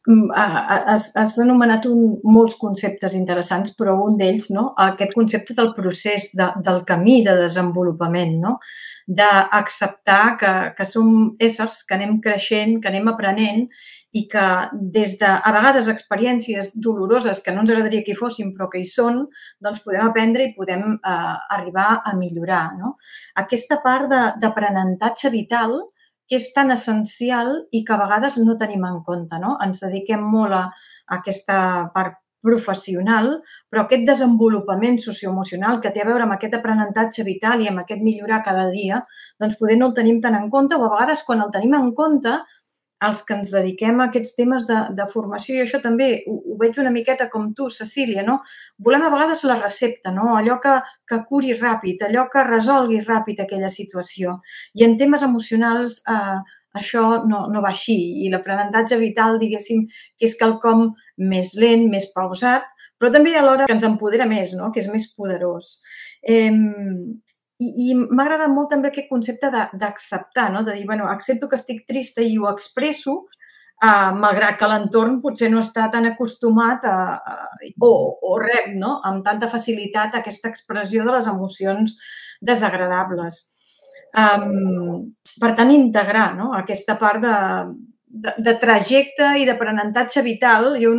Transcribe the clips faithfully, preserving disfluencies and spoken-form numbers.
Has anomenat molts conceptes interessants, però un d'ells, aquest concepte del procés, del camí de desenvolupament, d'acceptar que som éssers, que anem creixent, que anem aprenent i que des de, a vegades, experiències doloroses que no ens agradaria que hi fossin, però que hi són, doncs podem aprendre i podem arribar a millorar. Aquesta part d'aprenentatge vital que és tan essencial i que a vegades no tenim en compte. Ens dediquem molt a aquesta part professional, però aquest desenvolupament socioemocional que té a veure amb aquest aprenentatge vital i amb aquest millorar cada dia, doncs poder no el tenim tan en compte o a vegades quan el tenim en compte, els que ens dediquem a aquests temes de formació, i això també ho veig una miqueta com tu, Cecília, volem a vegades la recepta, allò que curi ràpid, allò que resolgui ràpid aquella situació. I en temes emocionals això no va així i l'aprenentatge vital, diguéssim, que és quelcom més lent, més pausat, però també alhora que ens empodera més, que és més poderós. I m'ha agradat molt també aquest concepte d'acceptar, de dir, bueno, accepto que estic trista i ho expresso, malgrat que l'entorn potser no està tan acostumat o rep amb tanta facilitat aquesta expressió de les emocions desagradables. Per tant, integrar aquesta part de trajecte i d'aprenentatge vital. Jo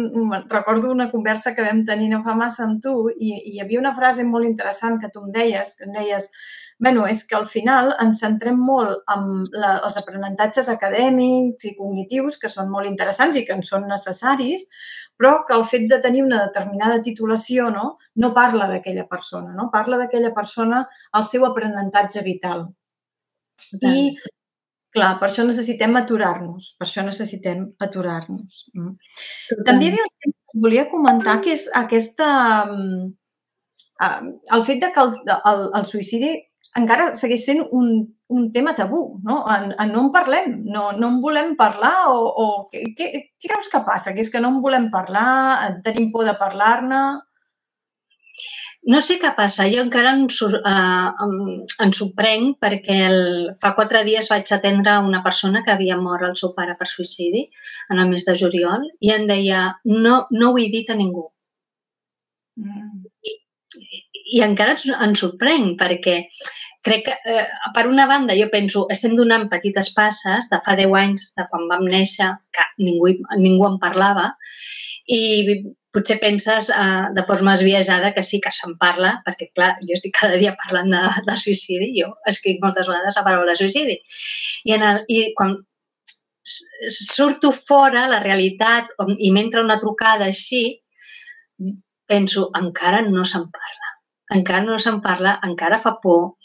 recordo una conversa que vam tenir no fa massa amb tu i hi havia una frase molt interessant que tu em deies, que em deies, bueno, és que al final ens centrem molt en els aprenentatges acadèmics i cognitius, que són molt interessants i que en són necessaris, però que el fet de tenir una determinada titulació no parla d'aquella persona, no parla d'aquella persona al seu aprenentatge vital. I, clar, per això necessitem aturar-nos, per això necessitem aturar-nos. També hi havia un tema que et volia comentar, que és aquesta... el fet que el suïcidi encara segueix sent un tema tabú, no en parlem, no en volem parlar o què creus que passa? Que és que no en volem parlar, tenim por de parlar-ne? No sé què passa, jo encara em sorprenc perquè fa quatre dies vaig atendre una persona que havia mort el seu pare per suïcidi en el mes de juliol i em deia, no ho he dit a ningú. I encara em sorprenc perquè crec que, per una banda, jo penso, estem donant petites passes de fa deu anys, de quan vam néixer, que ningú en parlava, i potser penses de forma esbiaixada que sí que se'n parla, perquè, clar, jo estic cada dia parlant de suïcidi, jo escric moltes vegades la paraula suïcidi. I quan surto fora, la realitat, i m'entra una trucada així, penso, encara no se'n parla. Encara no se'n parla, encara fa por,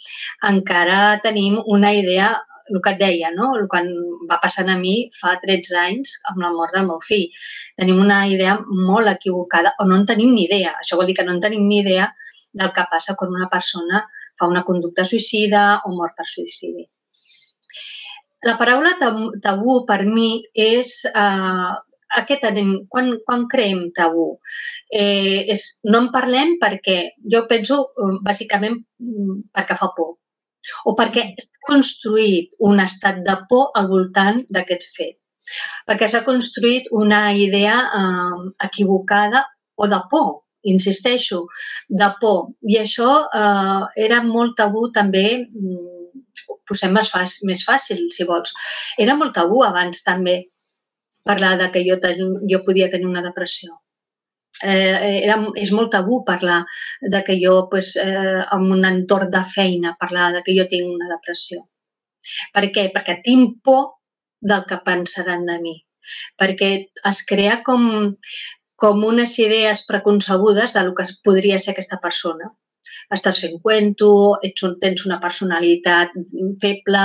encara tenim una idea, el que et deia, el que va passant a mi fa tretze anys amb la mort del meu fill. Tenim una idea molt equivocada, o no en tenim ni idea. Això vol dir que no en tenim ni idea del que passa quan una persona fa una conducta suïcida o mor per suïcidi. La paraula tabú per mi és... Quan creem tabú? No en parlem perquè, jo penso, bàsicament perquè fa por o perquè s'ha construït un estat de por al voltant d'aquest fet, perquè s'ha construït una idea equivocada o de por, insisteixo, de por. I això era molt tabú també, ho posem més fàcil, si vols, era molt tabú abans també parlar que jo podia tenir una depressió. És molt tabú parlar que jo, en un entorn de feina, parlar que jo tinc una depressió. Per què? Perquè tinc por del que pensaran de mi. Perquè es crea com unes idees preconcebudes del que podria ser aquesta persona. Estàs fent cuento, tens una personalitat feble.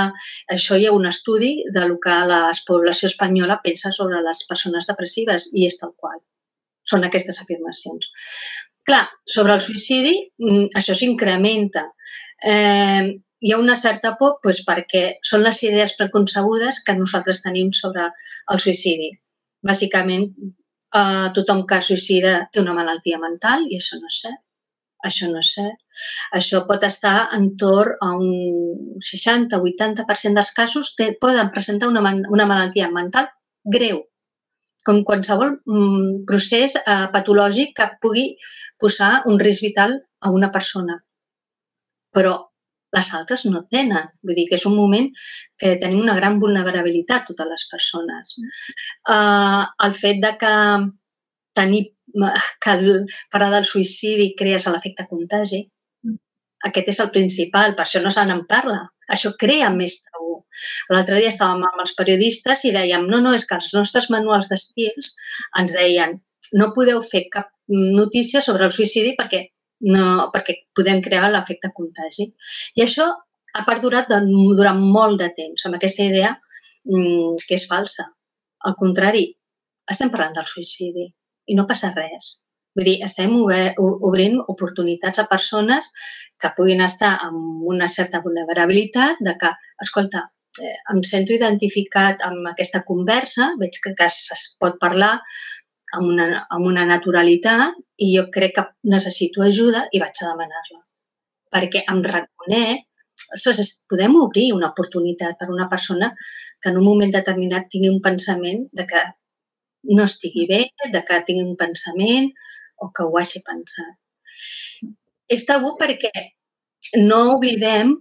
Això hi ha un estudi del que la població espanyola pensa sobre les persones depressives i és tal qual. Són aquestes afirmacions. Clar, sobre el suïcidi això s'incrementa. Hi ha una certa por perquè són les idees preconcebudes que nosaltres tenim sobre el suïcidi. Bàsicament, tothom que es suïcida té una malaltia mental i això no és cert. Això no és cert. Això pot estar entorn a un seixanta a vuitanta per cent dels casos poden presentar una malaltia mental greu. com qualsevol mm, procés eh, patològic que pugui posar un risc vital a una persona. Però les altres no tenen. Vull dir que és un moment que tenim una gran vulnerabilitat totes les persones. Uh, el fet de que tenir que el, parlar del suïcidi crees l'efecte contagi, aquest és el principal, per això no se n'en parla. Això crea més tabú. L'altre dia estàvem amb els periodistes i dèiem no, no, és que els nostres manuals d'estils ens deien no podeu fer cap notícia sobre el suïcidi perquè, no, perquè podem crear l'efecte contagi. I això ha perdurat durant molt de temps, amb aquesta idea mmm, que és falsa. Al contrari, estem parlant del suïcidi i no passa res. Vull dir, estem obrint oportunitats a persones que puguin estar amb una certa vulnerabilitat de que, escolta, eh, em sento identificat amb aquesta conversa, veig que, que es pot parlar amb una, amb una naturalitat i jo crec que necessito ajuda i vaig a demanar-la. Perquè em reconec, ostres, podem obrir una oportunitat per a una persona que en un moment determinat tingui un pensament de que no estigui bé, de que tingui un pensament o que ho hagi pensat. És tabú perquè no oblidem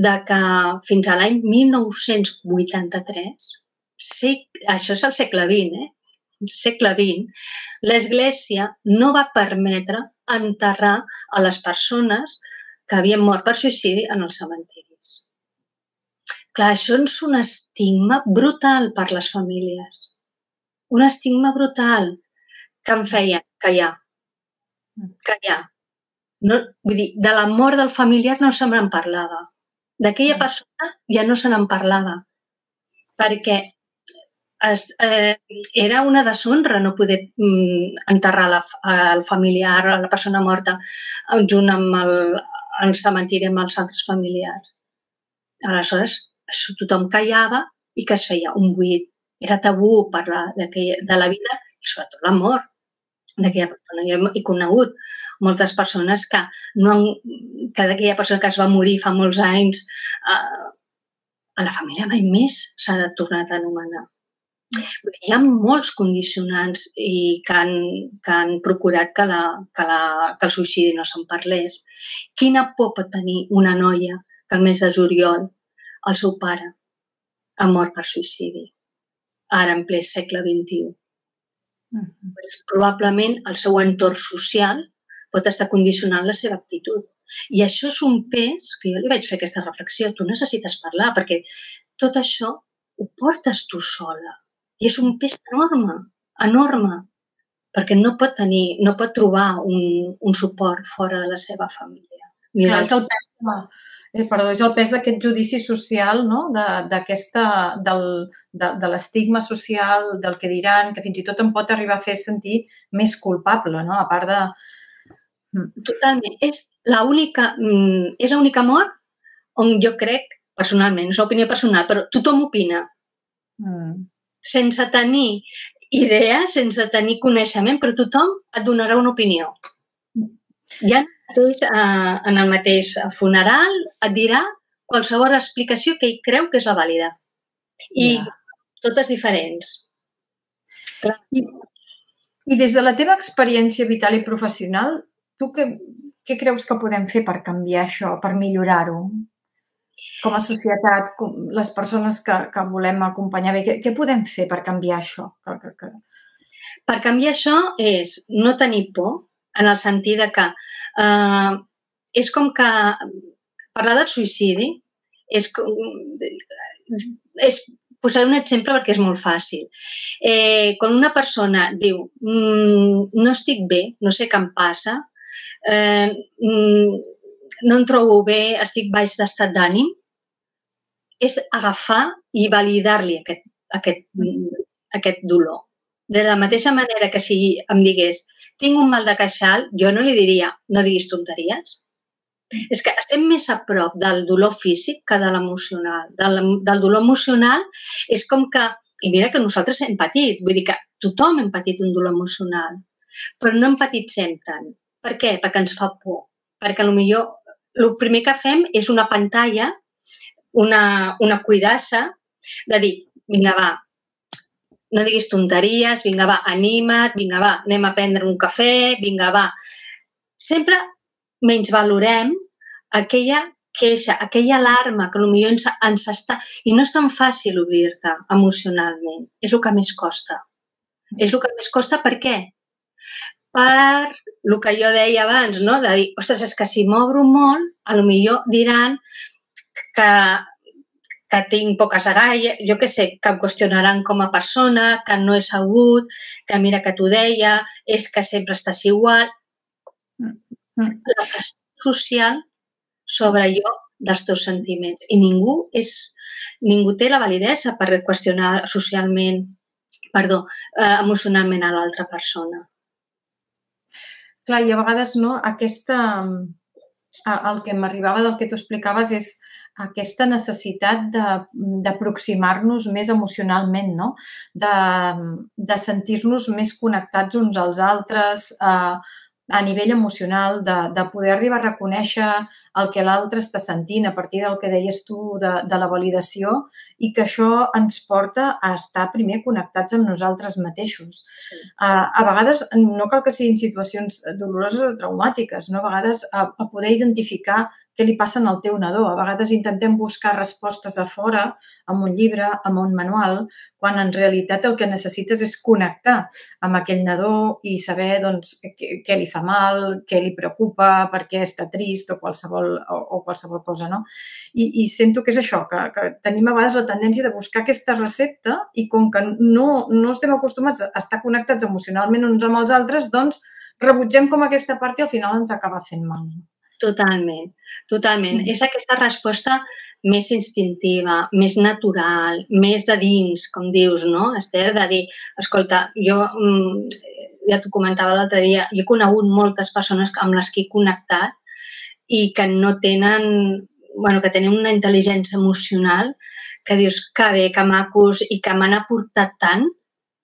de que fins a l'any mil nou-cents vuitanta-tres, això és el segle vint, eh? segle vint, l'Església no va permetre enterrar a les persones que havien mort per suïcidi en els cementiris. Clar, això és un estigma brutal per les famílies. Un estigma brutal que em feia callar. Callar. No, vull dir, de la mort del familiar no se me'n parlava. D'aquella persona ja no se n'en parlava. Perquè es, eh, era una deshonra no poder mm, enterrar la, el familiar, la persona morta, junt amb el, el cementiri amb els altres familiars. Aleshores, tothom callava i que es feia un buit. Era tabú parlar de la vida i sobretot la mort d'aquella persona. Jo he conegut moltes persones que, no han, que d'aquella persona que es va morir fa molts anys, eh, a la família mai més s'ha tornat a anomenar. Hi ha molts condicionants i que, han, que han procurat que, la, que, la, que el suïcidi no se'n parlés. Quina por pot tenir una noia que el mes de juliol el seu pare ha mort per suïcidi, ara en ple segle vint-i-u? Mm-hmm. Pues, probablement el seu entorn social pot estar condicionant la seva actitud. I això és un pes que jo li vaig fer aquesta reflexió. Tu necessites parlar perquè tot això ho portes tu sola. I és un pes enorme, enorme, perquè no pot tenir, no pot trobar un, un suport fora de la seva família. Clar, és el pes, eh, perdó, és el pes d'aquest judici social, no? de, d'aquesta, del, de, de l'estigma social, del que diran, que fins i tot em pot arribar a fer sentir més culpable, no? A part de... Totalment. És l'única, és l'única mort on jo crec, personalment, és una opinió personal, però tothom opina. Mm. Sense tenir idea, sense tenir coneixement, però tothom et donarà una opinió. Ja en el mateix funeral et dirà qualsevol explicació que ell creu que és la vàlida. I yeah. Totes diferents. I, I des de la teva experiència vital i professional, tu què, què creus que podem fer per canviar això, per millorar-ho? Com a societat, com les persones que, que volem acompanyar bé, què, què podem fer per canviar això? Que, que, que... Per canviar això és no tenir por, en el sentit de que eh, és com que parlar del suïcidi és, és posar un exemple perquè és molt fàcil. Eh, quan una persona diu mmm, no estic bé, no sé què em passa, eh, no em trobo bé, estic baix d'estat d'ànim, és agafar i validar-li aquest, aquest, aquest dolor. De la mateixa manera que si em digués tinc un mal de queixal, jo no li diria no diguis tonteries. És que estem més a prop del dolor físic que de l'emocional. Del, del dolor emocional és com que, i mira que nosaltres hem patit, vull dir que tothom hem patit un dolor emocional, però no empatitzem tant. Per què? Perquè ens fa por. Perquè potser el primer que fem és una pantalla, una, una cuirassa de dir, vinga, va, no diguis tonteries, vinga, va, anima't, vinga, va, anem a prendre un cafè, vinga, va. Sempre menys valorem aquella queixa, aquella alarma que potser ens, ens està... I no és tan fàcil obrir-te emocionalment. És el que més costa. És el que més costa per què? Per el que jo deia abans, no? De dir, ostres, és que si m'obro molt, potser diran que que tinc poques agalles, jo què sé, que em qüestionaran com a persona, que no he sabut, que mira que t'ho deia, és que sempre estàs igual. La pressió social sobre allò dels teus sentiments. I ningú és, ningú té la validesa per qüestionar socialment, perdó, eh, emocionalment a l'altra persona. Clar, i a vegades, no, aquesta, el que m'arribava del que tu explicaves és aquesta necessitat d'aproximar-nos més emocionalment, no? De, de sentir-nos més connectats uns als altres, a, a nivell emocional, de, de poder arribar a reconèixer el que l'altre està sentint a partir del que deies tu de, de la validació i que això ens porta a estar primer connectats amb nosaltres mateixos. Sí. A, a vegades no cal que siguin situacions doloroses o traumàtiques, no? A vegades a, a poder identificar què li passa al teu nadó. A vegades intentem buscar respostes a fora, amb un llibre, amb un manual, quan en realitat el que necessites és connectar amb aquell nadó i saber doncs, què, què li fa mal, què li preocupa, per què està trist o qualsevol, o, o qualsevol cosa, no? I, I sento que és això, que, que tenim a vegades la tendència de buscar aquesta recepta i com que no, no estem acostumats a estar connectats emocionalment uns amb els altres, doncs rebutgem com aquesta part i al final ens acaba fent mal. Totalment, totalment. Mm. És aquesta resposta més instintiva, més natural, més de dins, com dius, no, Esther? De dir, escolta, jo ja t'ho comentava l'altre dia, jo he conegut moltes persones amb les que he connectat i que no tenen, bueno, que tenen una intel·ligència emocional que dius que bé, que macos i que m'han aportat tant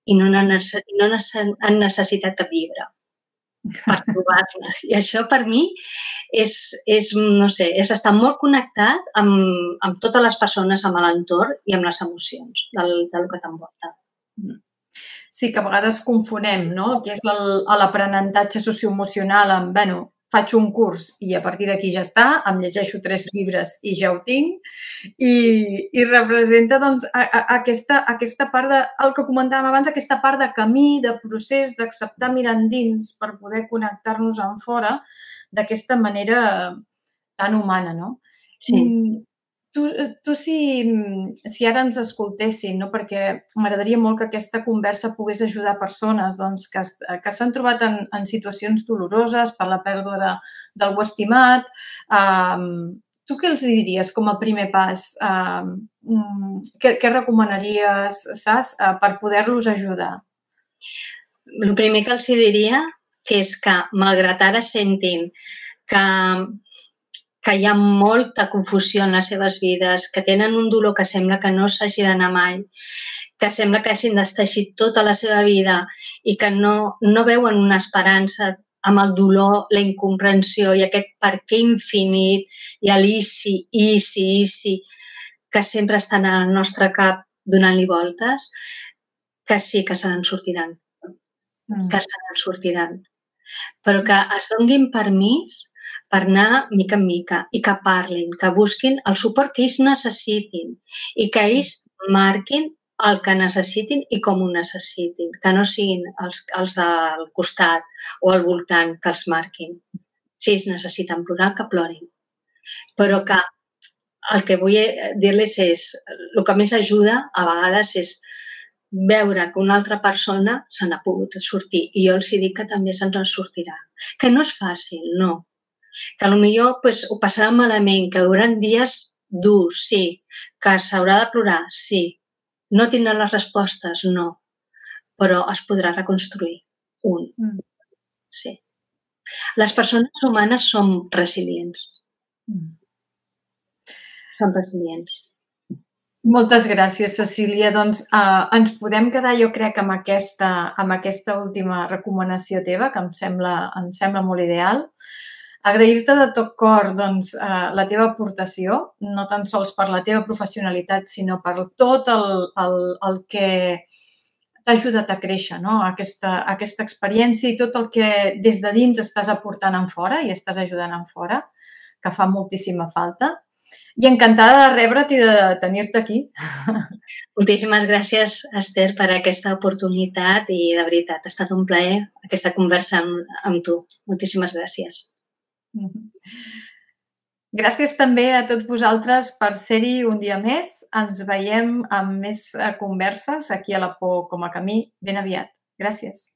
i no han necessitat cap llibre per trobar-la. I això per mi és, és, no sé, és estar molt connectat amb, amb totes les persones, amb l'entorn i amb les emocions del, del que t'envolta. Sí, que a vegades confonem, no?, que és l'aprenentatge socioemocional amb, bueno, faig un curs i a partir d'aquí ja està, em llegeixo tres llibres i ja ho tinc, i, i representa doncs, a, a, aquesta, aquesta part de, el que comentàvem abans, aquesta part de camí, de procés, d'acceptar mirar endins per poder connectar-nos en fora d'aquesta manera tan humana, no? Sí. Tu, tu si, si ara ens escoltessin, no? Perquè m'agradaria molt que aquesta conversa pogués ajudar persones doncs, que, que s'han trobat en, en situacions doloroses per la pèrdua de, d'algú estimat. Um, tu què els diries com a primer pas? Um, què, què recomanaries, saps, uh, per poder-los ajudar? El primer que els diria que és que, malgrat ara sentin que que hi ha molta confusió en les seves vides, que tenen un dolor que sembla que no s'hagi d'anar mai, que sembla que hagin d'estar tota la seva vida i que no, no veuen una esperança amb el dolor, la incomprensió i aquest per què infinit i l'isi, isi, isi, que sempre estan al nostre cap donant-li voltes, que sí que se n'en sortiran, mm. que se n'en sortiran. Però que es donguin permís per anar mica en mica i que parlin, que busquin el suport que ells necessitin i que ells marquin el que necessitin i com ho necessitin, que no siguin els, els del costat o al voltant que els marquin. Si ells necessiten plorar, que plorin. Però que el que vull dir-los és, el que més ajuda a vegades és veure que una altra persona se n'ha pogut sortir i jo els dic que també se'n sortirà. Que no és fàcil, no. Que potser pues, ho passarà malament, que hauran dies durs, sí, que s'haurà de plorar, sí, no tindran les respostes, no, però es podrà reconstruir un, mm. sí. Les persones humanes som resilients. Mm. Som resilients. Moltes gràcies, Cecília. Doncs eh, ens podem quedar, jo crec, amb aquesta, amb aquesta última recomanació teva, que em sembla, em sembla molt ideal. Agrair-te de tot cor doncs, eh, la teva aportació, no tan sols per la teva professionalitat, sinó per tot el, el, el que t'ha ajudat a créixer, no? Aquesta, aquesta experiència i tot el que des de dins estàs aportant en fora i estàs ajudant en fora, que fa moltíssima falta. I encantada de rebre't i de tenir-te aquí. Moltíssimes gràcies, Esther, per aquesta oportunitat i, de veritat, ha estat un plaer aquesta conversa amb, amb tu. Moltíssimes gràcies. Gràcies també a tots vosaltres per ser-hi un dia més. Ens veiem amb més converses aquí a La Por com a Camí ben aviat. Gràcies.